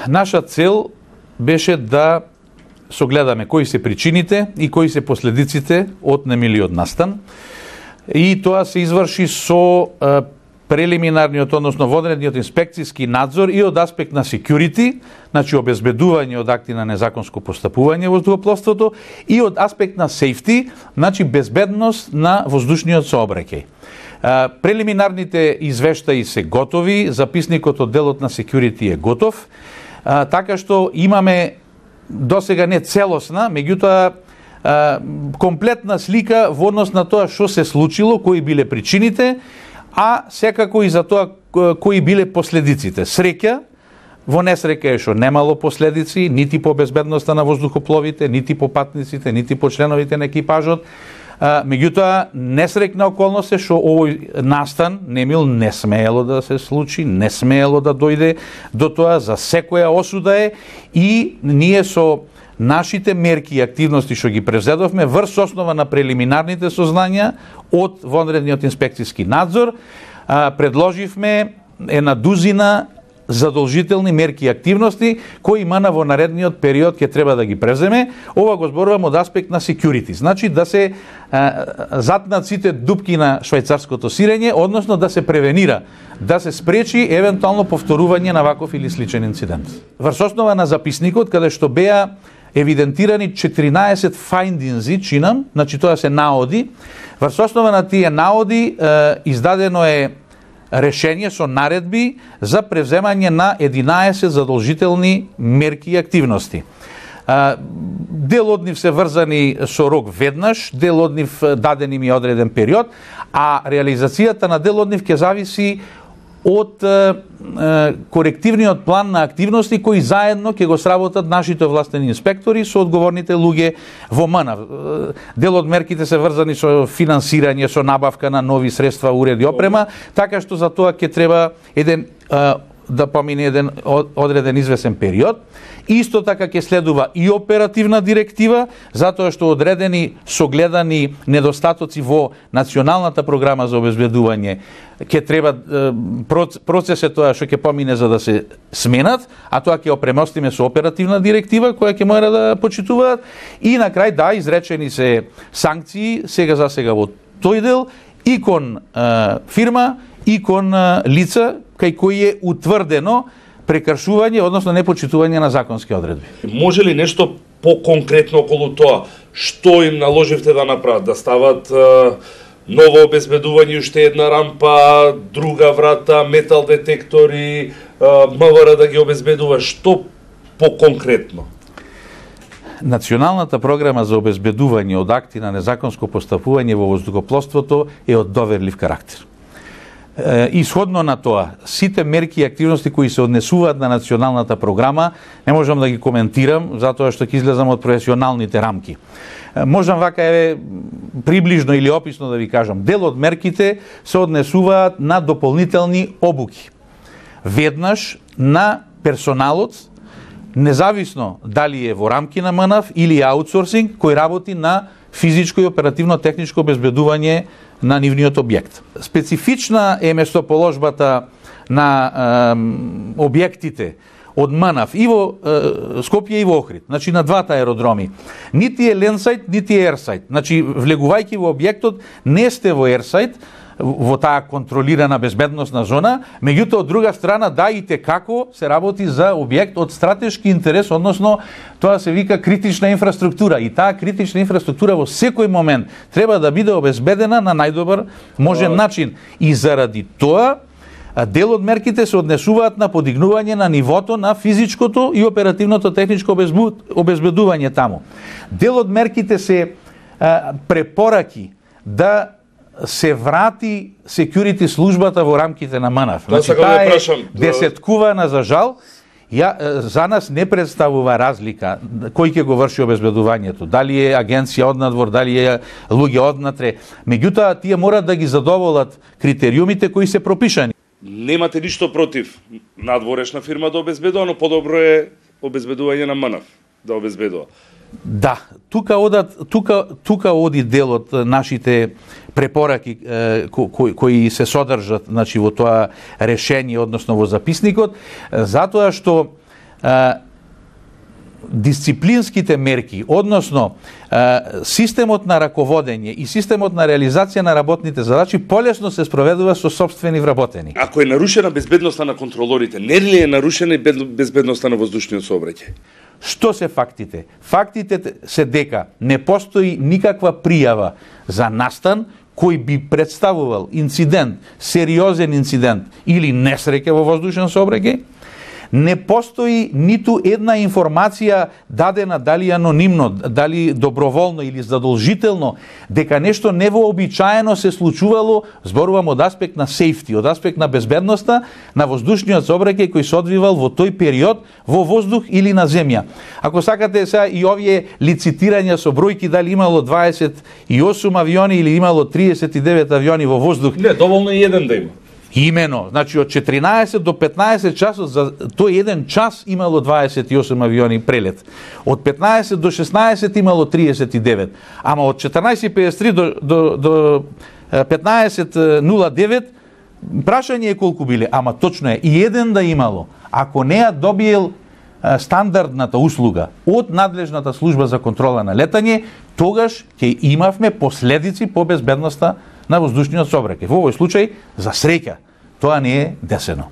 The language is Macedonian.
наша цел беше да согледаме кои се причините и кои се последиците од немилиот настан. И тоа се изврши со прелиминарниот, односно водредниот инспекцијски надзор и од аспект на security, значи обезбедување од акти на незаконско постапување во воздухопловството, и од аспект на safety, значи безбедност на воздушниот сообраќај. Прелиминарните извештаи се готови, записникот од делот на security е готов, така што имаме досега не целосна, меѓутоа комплетна слика во однос на тоа што се случило, кои биле причините, а секако и за тоа кои биле последиците. Среќа, во несреќа е што немало последици, нити по безбедноста на воздухопловите, нити по патниците, нити по членовите на екипажот. Меѓутоа, несреќна околност е што овој настан немил не смеело да се случи, не смеело да дојде до тоа, за секоја осуда е, и ние со нашите мерки и активности што ги презедовме врз основа на прелиминарните сознања од вонредниот инспекцијски надзор, предложивме една дузина задолжителни мерки и активности кои МН во наредниот период ќе треба да ги преземе. Ова го зборувам од аспект на security, значи да се затнат сите дупки на швајцарското сирење, односно да се превенира, да се спречи евентуално повторување на ваков или сличен инцидент. Врз основа на записникот, каде што беа евидентирани 14 фајндинзи, чинам, значи тоа се наоди, врз основа на тие наоди издадено е решение со наредби за превземање на 11 задолжителни мерки и активности. Дел од нив се врзани со рок веднаш, дел од нив даден им е одреден период, а реализацијата на дел од нив ќе зависи од корективниот план на активности кои заедно ќе го сработат нашите властени инспектори со одговорните луѓе во МН. Дел од мерките се врзани со финансирање, со набавка на нови средства, уреди, опрема, така што за тоа ќе треба да помине еден одреден извесен период. Исто така ќе следува и оперативна директива, затоа што одредени согледани недостатоци во националната програма за обезбедување ќе треба процесот тоа што ќе помине за да се сменат, а тоа ќе опремостиме со оперативна директива која ќе мора да почитуваат, и на крај да изречени се санкции сега за сега во тој дел и кон фирма и кон лица кај кои е утврдено прекршување, односно непочитување на законски одредби. Може ли нешто по-конкретно околу тоа? Што им наложивте да направат? Да стават ново обезбедување, уште една рампа, друга врата, метал детектори, МВР да ги обезбедува? Што по-конкретно? Националната програма за обезбедување од акти на незаконско постапување во воздухопловството е од доверлив карактер. Исходно на тоа, сите мерки и активности кои се однесуваат на националната програма, не можам да ги коментирам, затоа што ќе излезам од професионалните рамки. Можам вака приближно или описно да ви кажам, дел од мерките се однесуваат на дополнителни обуки. Веднаш на персоналот, независно дали е во рамки на МНАФ или аутсорсинг, кој работи на физичко и оперативно техничко обезбедување на нивниот објект. Специфична е местоположбата на објектите од МНАФ и во Скопје и во Охрид, значи на двата аеродроми. Нити е ленсайт, нити е ерсайт. Значи, влегувајќи во објектот, не сте во ерсайт, во таа контролирана безбедносна зона, меѓутоа од друга страна да и како се работи за објект од стратешки интерес, односно тоа се вика критична инфраструктура, и таа критична инфраструктура во секој момент треба да биде обезбедена на најдобар можен начин, и заради тоа дел од мерките се однесуваат на подигнување на нивото на физичкото и оперативното техничко обезбедување таму. Дел од мерките се препораки да се врати security службата во рамките на МНАФ. Значи, таа е десеткувана за жал. За нас не представува разлика кој ќе го врши обезбедувањето. Дали е агенција однадвор, дали е луѓе однатре. Меѓутоа, тие мора да ги задоволат критериумите кои се пропишани. Немате ништо против надворешна фирма да обезбедува, но подобро е обезбедување на МНАФ да обезбедува. Да, тука оди дел од нашите препораки кои се содржат, значи, во тоа решение, односно во записникот, затоа што дисциплинските мерки, односно системот на раководење и системот на реализација на работните задачи полесно се спроведува со сопствени вработени. Ако е нарушена безбедноста на контролорите, не ли е нарушена и безбедноста на воздушниот сообраќај? Што се фактите? Фактите се дека не постои никаква пријава за настан кој би представувал инцидент, сериозен инцидент или несреќа во воздушен сообраќај. Не постои ниту една информација дадена дали анонимно, дали доброволно или задолжително, дека нешто невообичаено се случувало, зборувам од аспект на сейфти, од аспект на безбедноста на воздушниот сообраќај кој се одвивал во тој период во воздух или на земја. Ако сакате сега и овие лицитирања со бројки дали имало 28 авиони или имало 39 авиони во воздух. Не, доволно е еден да има. Имено, значи од 14 до 15 часот за тој еден час имало 28 авиони прелет. Од 15 до 16 имало 39. Ама од 14:53 до 15:09 прашање е колку биле, ама точно е и еден да имало. Ако не ја добиел стандардната услуга од надлежната служба за контрола на летање, тогаш ќе имавме последици по безбедноста на воздушниот сообраќај. Во овој случај, за среќа, тоа не е десено.